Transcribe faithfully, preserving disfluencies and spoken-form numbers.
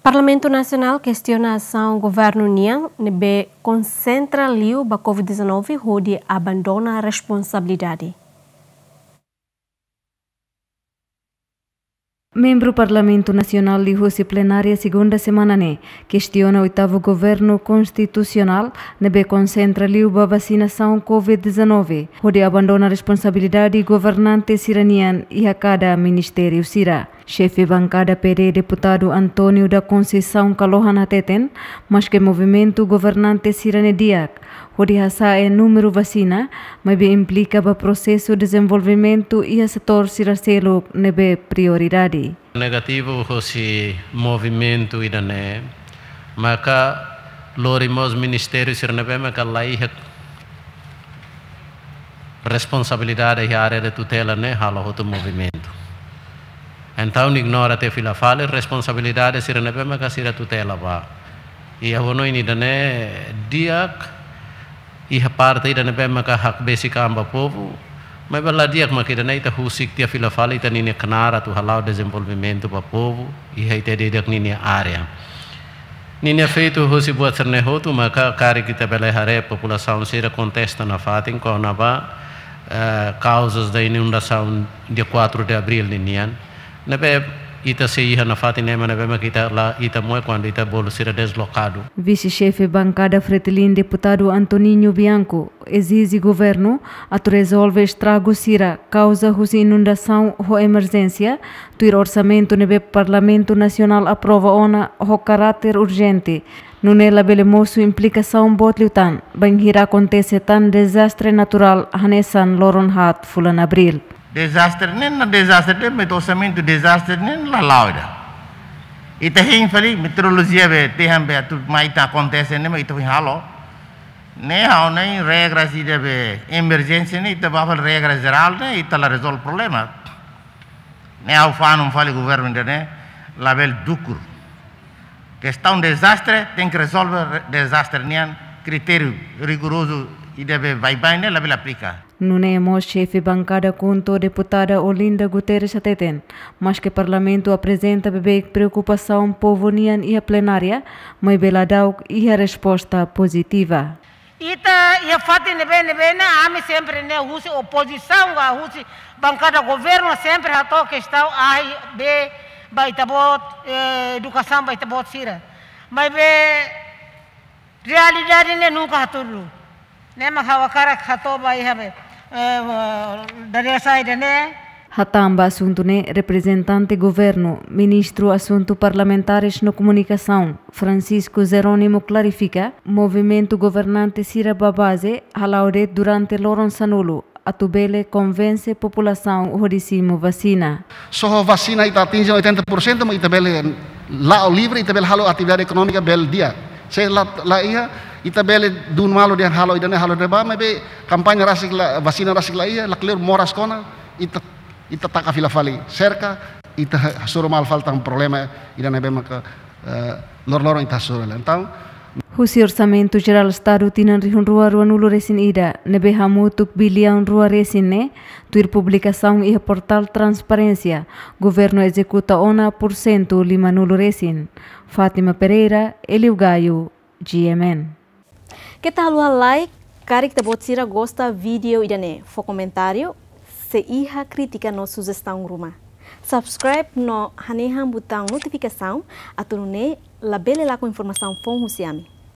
Parlamentu Nasionál kestiona asaun governu nian ne'ebé konsentra liu ba covid dezanove hodi abandona responsabilidade. Membru Parlamentu Nasionál liuhusi plenária segunda semana ne'e kestiona oitavu governu konstitusionál ne'ebé konsentra liu ba vasinasaun covid dezanove hodi abandona responsabilidade governante sira-nian iha kada ministériu sira. Xefe bankada P D, deputadu António da Conceição Kalohan hateten, maske movimentu governante sira-ne'e di'ak hodi hasa'e númeru vasina, maibé implika ba prosesu dezenvolvimentu iha setór sira seluk ne'ebé prioridade. Negativu hosi movimentu ida-ne'e, maka lori mós ministériu sira ne'ebé maka la iha responsabilidade iha área de tutela ne'e halo hotu movimentu. Entaun ignora tiha fila fali responsabilidade sira ne'ebé maka sira tutela ba. Iha hanoin ida-ne'e di'ak, iha parte ida ne'ebé maka hakbesik an ba povu, maibé la di'ak maka ida-ne'e ita husik tiha fila fali ita-nia knaar atu hala'o dezenvolvimentu ba povu iha ita di'ak ninia área. Ninia efeitu hosi buat sira-ne'e hotu maka karik ita bele haree populasaun sira kontesta nafatin kona-ba, eh, kauzas da inundasaun dia quatro de abril ninian. Ne'ebé ita sei iha nafatin ema ne'ebé maka ita la, ita moe kuandu ita bolu sira deslokadu. Vise-xefe bankada Fretilin, deputadu Antoninho Bianco, ezije governu atu rezolve estragu sira kauza husi inundasaun ho emerjénsia, tuir orsamentu ne'ebé Parlamentu Nasionál aprova ona ho karáter urjente. Nune'e labele mosu implikasaun boot liután bainhira akontese tan dezastre naturál hanesan loron haat fulan Abríl. Dezastre ne'e, na dezastre ne'e, met orsamentu dezastre ne'e la la'o ida. Ita hein fali meteorolojia be, tehan be, atu mai ita akontese ne'e, mak ita foin halo. Ne'e ha'u hanoin regras ida be emerjénsia ne'e, ita ba fali regra jerál ne'e, ita la rezolve problema. Ne'e ha'u fanu fali governu ida-ne'e, labele dukur. Kestaun dezastre, tenke rezolve re-, dezastre nian, kritériu rigorozu ida be baibain ne'e labele aplika. Nune'e mós xefe bankada KHUNTO, deputada Olinda Guterres hateten, maske Parlamentu aprezenta beibeik preokupasaun povu nian iha plenária, maibé la da'uk iha resposta pozitiva. Ita iha fatin ne'ebé-ne'ebé ne'e, ami sempre ne'e husi opozisaun ka husi bankada governu sempre hato'o kestaun A, B ba ita-boot, eh, edukasaun ba ita-boot sira. Maibé realidade ne'e nunka hatudu. Ne'e mak ha'u hakarak hato'o ba iha be, eh, dadeer-saan ida-ne'e. Hatán ba asuntu ne'e, reprezentante governu, Ministru Asuntu Parlamentares no Komunikasaun, Francisco Jerónimo, klarifika, movimentu governante sira ba baze hala'o de'it durante loron sanulu, atu bele konvense populasaun hodi simu vasina. Só ho vasina ita atinje oitenta por cento, mas ita bele la'o livre, ita bele halo atividade ekonómika bele di'ak. Se la, la iha, ita bele dun malu dehan halo ida-ne'e halo ida-ne'ebá, maibé kampaña rasik la, vasina rasik la iha, lakleur moras kona, ita, ita taka fila fali serka, ita ha-, hasoru malu fali tan problema ida ne'ebé maka, eh, lor-loron ita hasoru hela. Entaun, husi Orsamentu Jerál Estadu tinan rihun rua ruanulu resin ida, ne'ebé hamutuk biliaun rua resin ne'e, tuir publikasaun iha portál transparénsia, governu ezekuta ona pursentu limanulu resin. Fátima Pereira, Elio Gaio, G M N. Keta haluha like, karik ita-boot sira gosta vídeo ida-ne'e, fó komentáriu, se iha krítika no sujestaun ruma. Subscribe no hanehan butaun notifikasaun, atu nune'e labele lakon informasaun foun husi ami.